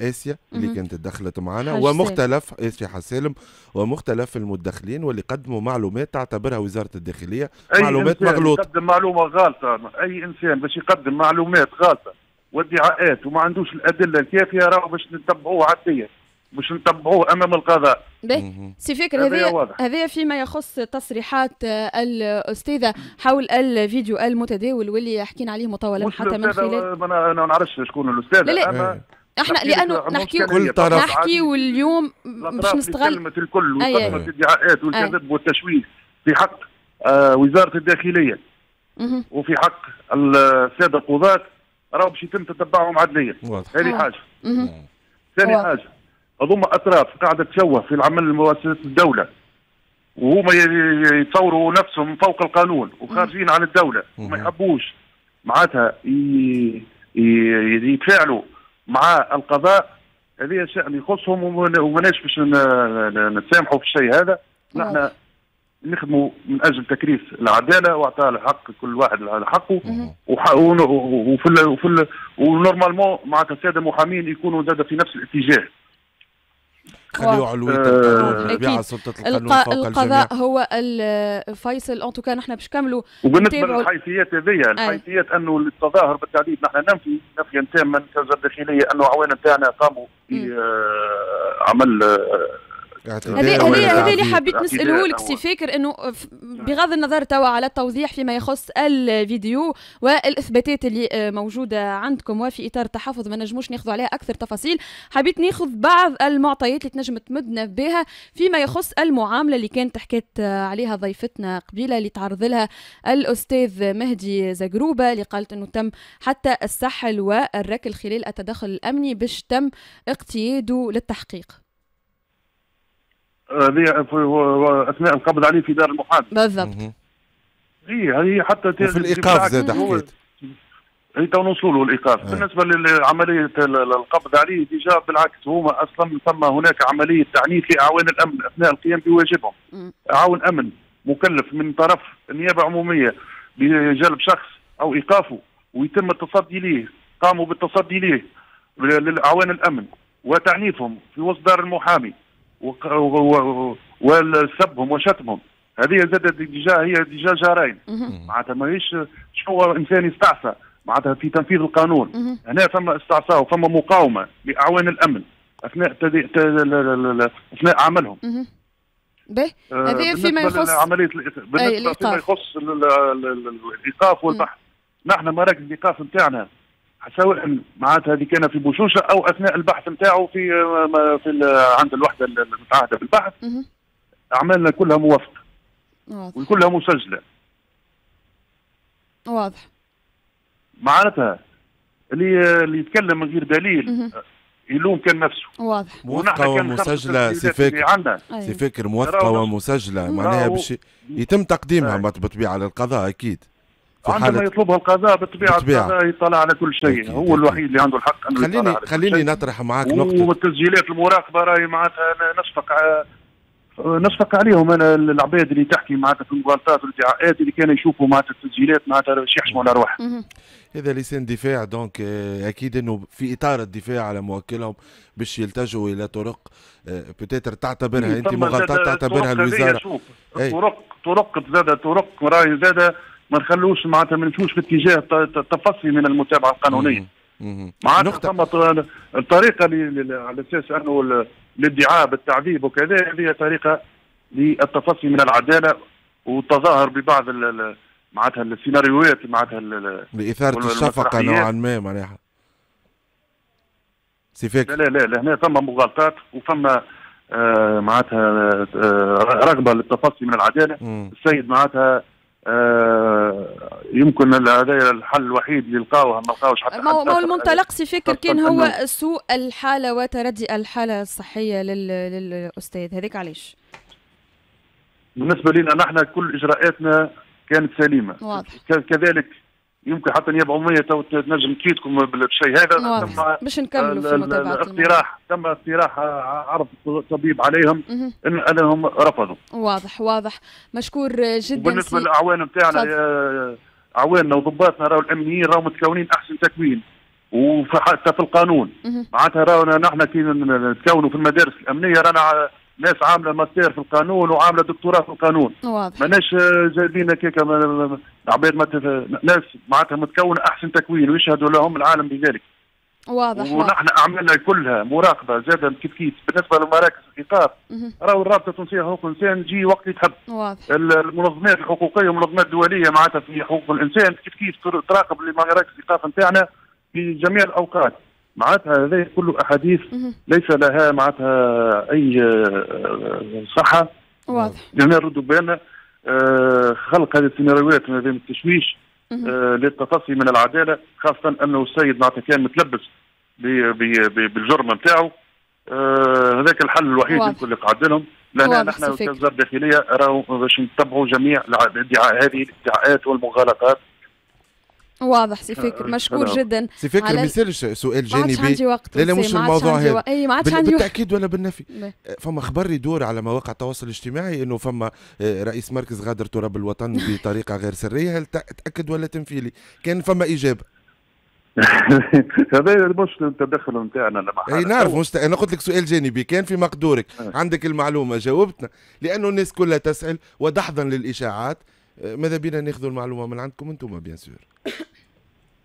Speaker 4: اسيا اللي كانت تدخلت معنا، ومختلف اسيا حسالم ومختلف المتدخلين واللي قدموا معلومات تعتبرها وزارة الداخلية معلومات مغلوطة.
Speaker 7: يقدم معلومة غالطه، اي انسان باش يقدم معلومات غالطه وادعاءات وما عندوش الادلة الكافيه راهو باش نتبعوه عدليا، باش نتبعوه امام القضاء.
Speaker 2: باهي سي فكر، هذا فيما يخص تصريحات الاستاذة حول الفيديو المتداول واللي حكينا عليه مطولا حتى من خلال
Speaker 7: انا ما نعرفش شكون الاستاذة.
Speaker 2: لا لا. احنا لانه نحكي
Speaker 4: كل طرف
Speaker 2: نحكي اليوم باش نستغل
Speaker 7: كلمة الكل وقدمت الادعاءات والكذب والتشويه في حق وزارة الداخلية وفي حق السادة القضاة، راهو باش يتم تتبعهم عدليا. هذه حاجة. ثاني حاجة، هذوما اطراف قاعدة تشوه في العمل مؤسسات الدولة، وهما يتصوروا نفسهم فوق القانون وخارجين عن الدولة وما يحبوش معناتها يتفاعلوا مع القضاء. هذا شأن يخصهم وماناش باش نتسامحوا في الشيء هذا. نحن نخدموا من اجل تكريس العدالة واعطاء الحق كل واحد على حقه، وفي و normalement معناتها السادة المحامين يكونوا زاد في نفس الاتجاه.
Speaker 4: خليوا علوية القانون، بيع سلطة القانون فوق الجميع.
Speaker 2: القضاء هو الفيصل. en tout cas نحن باش نكملوا.
Speaker 7: وبالنسبة للحيثيات هذيا، الحيثيات انه التظاهر بالتعديد نحن ننفي نفيا تاما كوزارة الداخلية انه عوان نتاعنا قاموا بعمل
Speaker 2: هذا اللي حبيت نساله لك سي فاكر، انه بغض النظر توا على التوضيح فيما يخص الفيديو والاثباتات اللي موجودة عندكم وفي اطار التحفظ ما نجموش ناخذ عليها اكثر تفاصيل، حبيت ناخذ بعض المعطيات اللي تنجم تمدنا بها فيما يخص المعاملة اللي كانت حكيت عليها ضيفتنا قبيلة اللي تعرض لها الاستاذ مهدي زقروبه، اللي قالت انه تم حتى السحل والركل خلال التدخل الامني باش تم اقتياده للتحقيق.
Speaker 7: هذه اثناء القبض عليه في دار المحامي.
Speaker 2: بالضبط.
Speaker 7: اي هذه حتى
Speaker 4: في الايقاف زاد حكيت.
Speaker 7: اي تو نوصلوا له الايقاف. بالنسبة لعملية القبض عليه déjà بالعكس، هما اصلا ثم هناك عملية تعنيف لاعوان الامن اثناء القيام بواجبهم. عون امن مكلف من طرف النيابة العمومية بجلب شخص او ايقافه ويتم التصدي ليه، قاموا بالتصدي ليه للاعوان الامن وتعنيفهم في وسط دار المحامي وسبهم وشتمهم. هذه زادت déjà، هي déjà جرائم معناتها، ماهيش شنو انسان يستعصى معناتها في تنفيذ القانون. هنا فما استعصاء وفما مقاومة لاعوان الامن اثناء اثناء عملهم.
Speaker 2: باهي، هذا فيما يخص
Speaker 7: عملية بالنسبة فيما يخص الايقاف والبحث. نحن مراكز الايقاف نتاعنا سواء معناتها هذه كان في بوشوشه او اثناء البحث نتاعو في عند الوحدة المتعهده بالبحث، اعمالنا كلها موافقة وكلها مسجله.
Speaker 2: واضح.
Speaker 7: معناتها اللي يتكلم من غير دليل يلوم كان نفسه.
Speaker 2: واضح.
Speaker 4: موثقة ومسجله سي فكر، سي فكر موثقة ومسجله، معناها باش يتم تقديمها بالطبيعة للقضاء اكيد.
Speaker 7: عندما يطلبها القضاء بالطبيعة القضاء يطلع على كل شيء، هو الوحيد اللي عنده الحق انه
Speaker 4: خليني نطرح معاك نقطة.
Speaker 7: والتسجيلات المراقبة راهي معناتها نشفق عليهم انا، العباد اللي تحكي معناتها في المغالطات والادعاءات اللي كانوا يشوفوا معناتها التسجيلات معناتها باش يحشموا على رواحهم.
Speaker 4: هذا لسان دفاع، donc اكيد انه في اطار الدفاع على موكلهم باش يلتجوا الى طرق peut-être تعتبرها انت مغالطات، تعتبرها الوزارة.
Speaker 7: طرق زاد طرق راهي زاد ما نخلوش معناتها ما نمشوش في اتجاه التفصي من المتابعة القانونية. معناتها ثم الطريقة اللي على اساس انه الادعاء بالتعذيب وكذا، هذه طريقه للتفصي من العدالة والتظاهر ببعض معناتها السيناريوهات معناتها
Speaker 4: لاثاره الشفقة نوعا ما معناها. سي فكر.
Speaker 7: لا لا لا، هنا ثم مغالطات وثم معناتها رغبة للتفصي من العدالة. السيد معناتها يمكن هذا الحل الوحيد اللي لقاوه، ما لقاوش حتى.
Speaker 2: ما هو المنطلق سي فكر كان هو سوء الحالة وتردي الحالة الصحية للاستاذ، هذاك علاش؟
Speaker 7: بالنسبة لنا نحن كل اجراءاتنا كانت سليمة.
Speaker 2: واضح.
Speaker 7: كذلك يمكن حتى النيابة العمومية تنجم تفيدكم بالشيء هذا.
Speaker 2: باش نكملوا في متابعه
Speaker 7: الاقتراح، تم اقتراح عرض الطبيب عليهم انهم رفضوا.
Speaker 2: واضح واضح، مشكور جدا.
Speaker 7: بالنسبة للاعوان نتاعنا، اعواننا وضباطنا راهو الامنيين راهو متكونين احسن تكوين، وحتى في القانون معناتها راهو نحن كي نتكونوا في المدارس الامنية رانا ناس عامله ماستير في القانون وعامله دكتوراه في القانون.
Speaker 2: واضح.
Speaker 7: ماناش جايبين هكاك عباد ناس معناتها متكونه احسن تكوين ويشهدوا لهم العالم بذلك.
Speaker 2: واضح.
Speaker 7: ونحن اعمالنا كلها مراقبة زاد كيف كيف. بالنسبة لمراكز الايقاف راهو الرابطة التونسية لحقوق الانسان تجي وقت اللي تحب.
Speaker 2: واضح.
Speaker 7: المنظمات الحقوقية والمنظمات الدولية معناتها في حقوق الانسان كيف كيف تراقب مراكز الايقاف نتاعنا في جميع الاوقات. معناتها هذا كله احاديث ليس لها معناتها اي صحة.
Speaker 2: واضح.
Speaker 7: لأن نردوا بالنا خلق هذه السيناريوهات من التشويش للتفصي من العدالة، خاصة انه السيد معناتها كان متلبس بالجرم نتاعو. هذاك الحل الوحيد يمكن اللي قعد لهم. لان نحن كوزارة الداخلية راهو باش نتبعوا جميع هذه الادعاءات والمغالطات.
Speaker 2: واضح سي فكر، مشكور جدا
Speaker 4: سي فكر. ما يصيرش سؤال جانبي؟ لا لا مش الموضوع هذا.
Speaker 2: اي ما عادش عندي
Speaker 4: بالتاكيد ولا بالنفي. فما خبر يدور على مواقع التواصل الاجتماعي انه فما رئيس مركز غادر تراب الوطن بطريقة غير سرية، هل تاكد ولا تنفي لي؟ كان فما اجابه.
Speaker 7: هذا مش التدخل نتاعنا.
Speaker 4: اي نعرف، مش انا قلت لك سؤال جانبي، كان في مقدورك عندك المعلومة جاوبتنا، لانه الناس كلها تسال ودحضا للاشاعات. ماذا بينا ناخذ المعلومة من عندكم انتم bien sûr.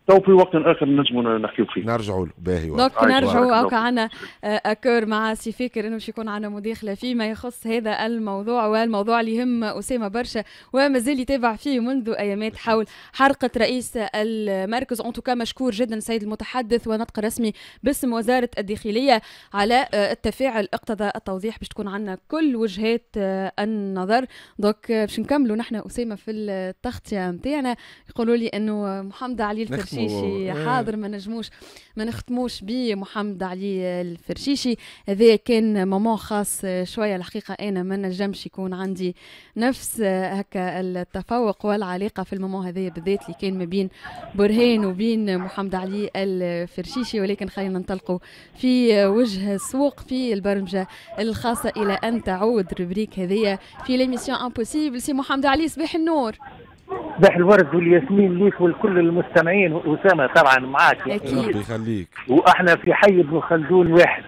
Speaker 7: تو في وقت اخر نجموا نحكيو فيه،
Speaker 4: نرجعوا له. باهي
Speaker 2: donc نرجعوا هكا عندنا accord مع سي فكر انه باش يكون عندنا مداخله فيما يخص هذا الموضوع، والموضوع اللي يهم اسامة برشا ومازال يتابع فيه منذ ايامات حول حرقه رئيس المركز. en tout cas مشكور جدا السيد المتحدث ونطق رسمي باسم وزارة الداخلية على التفاعل اقتضى التوضيح باش تكون عندنا كل وجهات النظر. donc باش نكملوا نحن اسامة في التغطية نتاعنا. يقولوا لي انه محمد علي الفرشيشي حاضر، ما نجموش ما نختموش بيه محمد علي الفرشيشي. هذا كان moment خاص شوية الحقيقة، انا ما نجمش يكون عندي نفس هكا التفوق والعلاقة في ال moment هذايا بالذات اللي كان ما بين برهان وبين محمد علي الفرشيشي، ولكن خلينا ننطلقوا في وجه السوق في البرمجة الخاصة الى ان تعود rubrique هذيا في l'émission impossible. سي محمد علي، صباح النور.
Speaker 8: صباح الورد والياسمين ليك ولكل المستمعين. اسامة طبعا معاك
Speaker 2: اكيد،
Speaker 4: ربي يخليك.
Speaker 8: واحنا في حي ابن خلدون واحد،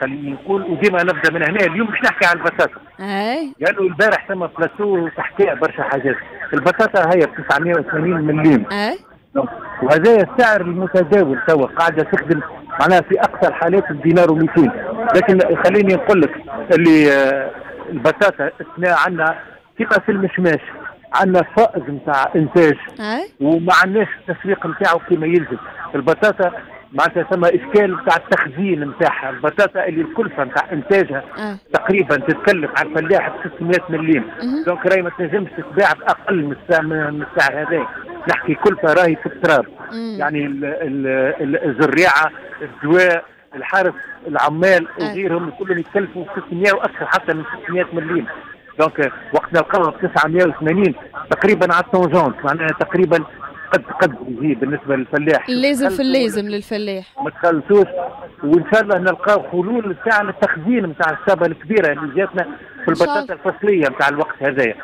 Speaker 8: خليني نقول، وديما نبدا من هنا. اليوم باش نحكي على البطاطا.
Speaker 2: اي
Speaker 8: قالوا البارح ثم بلاتو تحكي برشا حاجات. البطاطا هي ب 980 مليم.
Speaker 2: اي
Speaker 8: وهذا السعر المتداول توا، قاعدة تخدم معناها في اقصى الحالات بدينار و200. لكن خليني نقول لك اللي البطاطا اثناء عندنا كيما في المشماش عندنا فائض نتاع انتاج وما عندناش التسويق نتاعو كما يلزم. البطاطا معناتها ثم اشكال نتاع التخزين نتاعها. البطاطا اللي الكلفة نتاع انتاجها تقريبا تتكلف على الفلاح ب 600 مليم، donc راهي ما تنجمش تتباع باقل من السعر هذا. نحكي كلفه راهي في التراب. يعني الزريعه، الدواء، الحرث، العمال وغيرهم كلهم يتكلفوا 600 واكثر حتى من 600 مليم. donc وقت نلقاوها ب 980 تقريبا على ال tangente، معناها تقريبا قد يجي بالنسبة للفلاح.
Speaker 2: لازم في اللازم للفلاح
Speaker 8: ما تخلصوش، وان شاء الله نلقاو حلول تاع التخزين نتاع السابه الكبيرة اللي جاتنا في البطاطا الفصليه نتاع الوقت هذايا.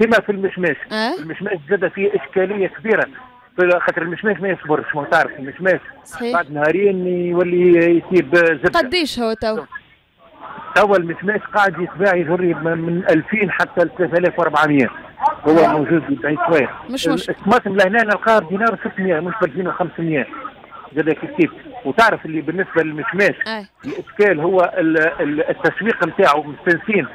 Speaker 8: كما في المشماش. المشماش زاد فيه اشكالية كبيرة، خاطر المشماش ما يصبرش، ما تعرف المشماش بعد نهارين يولي يسيب زبدة.
Speaker 2: قديش هو تو؟
Speaker 8: توا المشماش قاعد يتباع يجري من 2000 حتى 3400، هو موجود بعيد شوية.
Speaker 2: مش مشكل.
Speaker 8: الطماطم لهنا نلقاها بدينار 600 مش ب 2500 زاد كيف كيف. وتعرف اللي بالنسبة للمشماش الاشكال هو التسويق نتاعو مستنسين.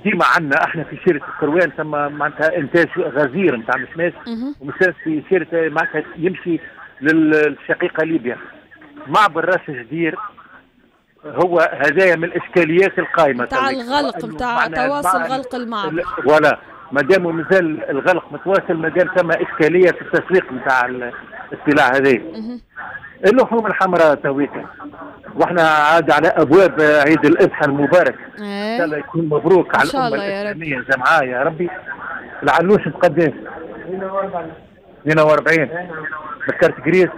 Speaker 8: ديما عندنا احنا في شيرة القروان ثم معناتها انتاج غزير نتاع المشماش، ومشماش في شيرة معناتها يمشي للشقيقه ليبيا. معبر راس جدير هو هذايا من الاشكاليات القائمة
Speaker 2: نتاع الغلق، نتاع تواصل غلق المعبر.
Speaker 8: ولا ما دام مازال الغلق متواصل، ما دام ثم اشكالية في التسويق نتاع السلع هذه. اللحوم الحمراء تويكا، واحنا عاد على ابواب عيد الاضحى المبارك. ان شاء الله يكون مبروك على الامة الاسلامية جمعاء يا ربي. العلوش بقداش؟ 42 بال carte grise.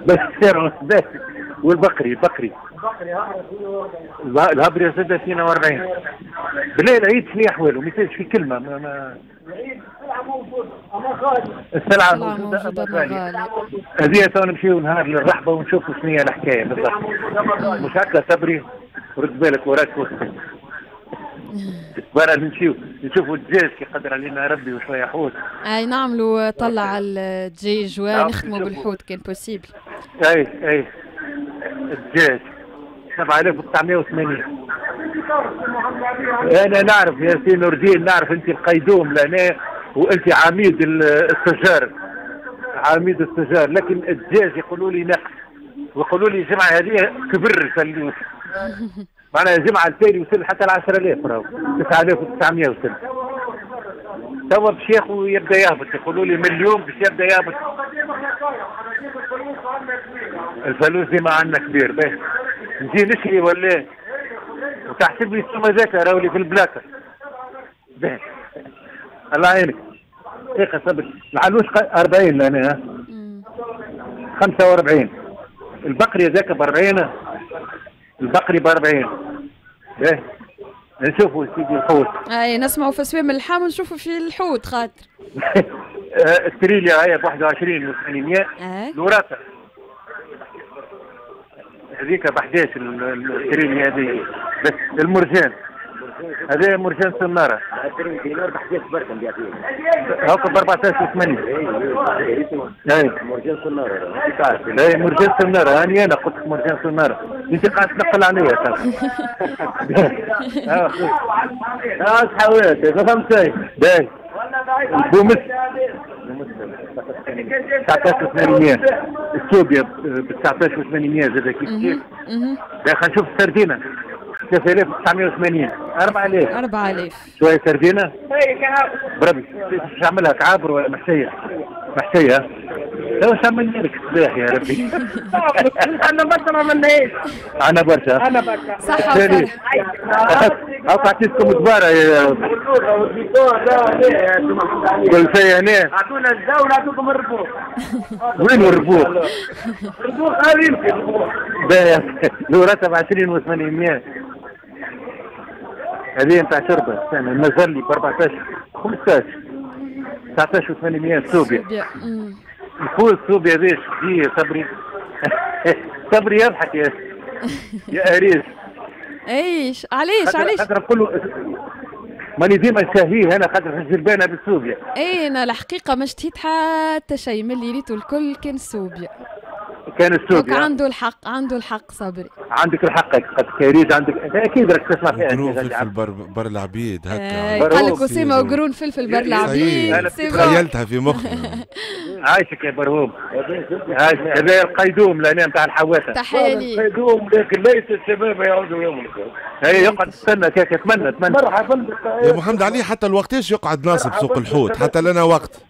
Speaker 8: بس سعره. والبقري البقري الهبري زاد 42. بالله العيد شنو احواله؟ ما يصيرش في كلمة. ما
Speaker 9: العيد السلعة موجودة اما غالية.
Speaker 8: السلعة موجودة اما غالية. هذه تو نمشيو نهار للرحبه ونشوفوا شنو هي الحكاية بالضبط. مش هكا صبري، رد بالك وراك برا نمشيو نشوفوا الدجاج كي قدر علينا ربي وشوية حوت.
Speaker 2: اي نعملوا طلع على الدجاج ونختموا بالحوت كان possible.
Speaker 8: اي اي الدجاج 7980. انا نعرف يا سي نور الدين، نعرف انت القيدوم لهنا وانت عميد التجار، عميد التجار، لكن الدجاج يقولوا لي نقص، ويقولوا لي الجمعة هذه كبر الفلوس. معناها الجمعة التالي وصل حتى ل 10000، راهو 9900 وصل. توا باش ياخذ يبدا يهبط، يقولوا لي من اليوم باش يبدا يهبط. الفلوس ديما عندنا كبير، باهي نجي نشري ولا وتحسب لي السوم هذاك راهو اللي في البلاكه. باهي الله يعينك. دقيقة صبري، العلوش 40 لهنا، 45. البقري هذاك ب 40، البقري ب 40. باهي نشوفوا سيدي الحوت.
Speaker 2: اي نسمعوا في سوام اللحم ونشوفوا في الحوت خاطر.
Speaker 8: التريليا هي ب 21 و800. الوراثة هذيك ب 11 التريليا هذه. بس المرجان هذا مرجان سناره
Speaker 9: 20 دينار ب 11 برك نبيع فيه.
Speaker 8: هاكا ب 14 و8. اي
Speaker 9: مرجان سناره.
Speaker 8: اي مرجان سناره، هاني انا قلت لك مرجان سناره، انت قاعد تنقل عليا. اه صحوات ما فهمت شيء. باهي البومس 19800، السوبيا ب 19800 زاد كيف كيف. خلينا نشوف السردينه 3980، 4000.
Speaker 2: 4000
Speaker 8: شوية سردينه بربي باش نعملها كعابر ولا محشيه؟ محشيه. تو واش عملنا لك الصباح يا ربي؟
Speaker 9: انا برشا ما عملناش.
Speaker 8: انا برشا.
Speaker 9: انا برشا.
Speaker 2: صحة وفرحة.
Speaker 8: هاك عطيتكم دبارة يا كل شيء هنا.
Speaker 9: اعطونا الزاو ونعطوكم الربوخ.
Speaker 8: وين الربوخ؟
Speaker 9: الربوخ هذا يمكن الربوخ.
Speaker 8: باهي الوراثة ب 20 و800. هذه نتاع شربة، استنى المزلي ب 14 15 19 و800 سوبيا. الفول السوبيا هذه دي صبري. صبري يضحك يا اريس.
Speaker 2: ايش علاش علاش؟
Speaker 8: خاطر نقول له ماني ديما شاهيه انا خاطر في الجلبانه بالسوبيا.
Speaker 2: اي انا الحقيقة ما اشتهيت حتى شيء من اللي ريته الكل كان السوبيا.
Speaker 8: كان السوق
Speaker 2: عنده الحق، عنده الحق صبري.
Speaker 8: عندك الحق قد عندك اكيد راك تسمع فيها.
Speaker 4: قرون فلفل بر العبيد هكا
Speaker 2: قال لك اسامة وقرون فلفل بر العبيد.
Speaker 4: تخيلتها في مخي.
Speaker 8: عايشك يا برهوم، عايشك. هذا القيدوم لهنا نتاع الحواته.
Speaker 2: تحية لي
Speaker 9: القيدوم، لكن ليس الشباب يعودوا يوم.
Speaker 8: هي يقعد تستنى كيك، اتمنى اتمنى.
Speaker 9: مرحبا
Speaker 4: يا محمد علي، حتى الوقتاش يقعد ناصب سوق الحوت؟ حتى لنا وقت،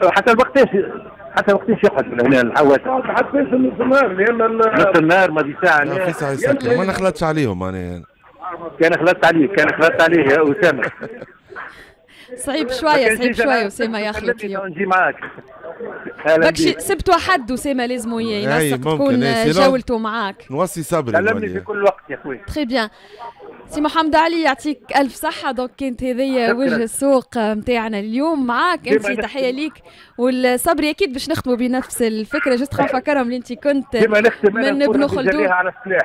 Speaker 8: حتى الوقتاش، حتى وقتاش يقعد من هنا الحواته؟
Speaker 9: حتى نص النهار، لان
Speaker 8: نص النهار ما في ساعة.
Speaker 4: في ساعة يسكر، ما نخلطش عليهم انا.
Speaker 8: كان خلطت عليه، كان خلطت عليه يا اسامة.
Speaker 2: صعيب شوية، صعيب شوية اسامة يخلط اليوم.
Speaker 8: نجي معاك
Speaker 2: باكشي سبت وحد اسامة لازم ينسق تكون جولته معاك.
Speaker 4: نوصي صبري.
Speaker 8: كلمني في كل وقت يا خويا.
Speaker 2: très bien سي محمد علي، يعطيك الف صحة. donc كانت هذيا وجه السوق نتاعنا اليوم معاك انت، تحية ليك والصبري. اكيد باش نختموا بنفس الفكرة، juste نفكرهم اللي انت كنت من ابن خلدون.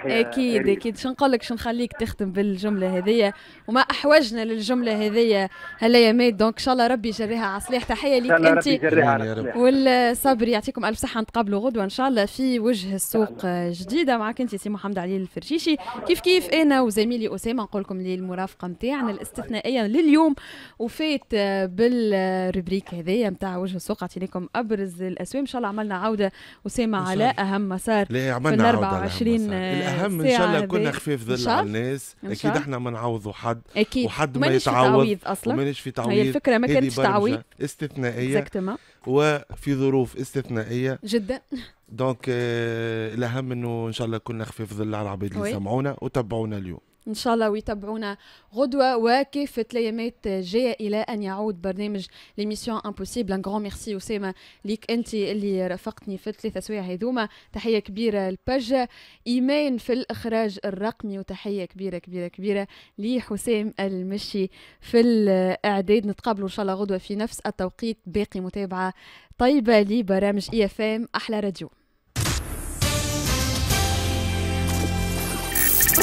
Speaker 2: اكيد اكيد، شو نقول لك، شو نخليك تختم بالجملة هذيا، وما احوجنا للجملة هذيا هالايامات. donc ان شاء الله ربي يجريها على صلاح. تحية ليك انت والصبري، يعطيكم الف صحة. نتقابلوا غدوه ان شاء الله في وجه السوق جديدة معك انت سي محمد علي الفرشيشي. كيف كيف انا وزميلي اسامة نقول لكم للمرافقه نتاعنا الاستثنائية لليوم وفات بال rubrique هذايا نتاع وجه السوق، عطيناكم ابرز الاسواق. ان شاء الله عملنا عوده اسامة على اهم مسار
Speaker 4: في ال 24. الاهم ان شاء الله كنا خفيف ظل على الناس. اكيد احنا ما نعوضوا حد،
Speaker 2: اكيد
Speaker 4: وحد ما يتعوض
Speaker 2: اصلا،
Speaker 4: ومانيش في تعويض.
Speaker 2: هي الفكرة ما كانتش تعويض،
Speaker 4: استثنائية وفي ظروف استثنائية
Speaker 2: جدا.
Speaker 4: donc الاهم انه ان شاء الله كنا خفيف ظل على العباد اللي سمعونا وتبعونا اليوم
Speaker 2: ان شاء الله، ويتابعونا غدوه وكافة الايامات جاية الى ان يعود برنامج l'émission impossible. un grand merci اسامة ليك انت اللي رافقتني في الثلاثة سوايع هذوما. تحية كبيرة لباج ايمان في الاخراج الرقمي، وتحية كبيرة كبيرة كبيرة لحسام المشي في الاعداد. نتقابلوا ان شاء الله غدوه في نفس التوقيت. باقي متابعه طيبة لبرامج IFM احلى راديو.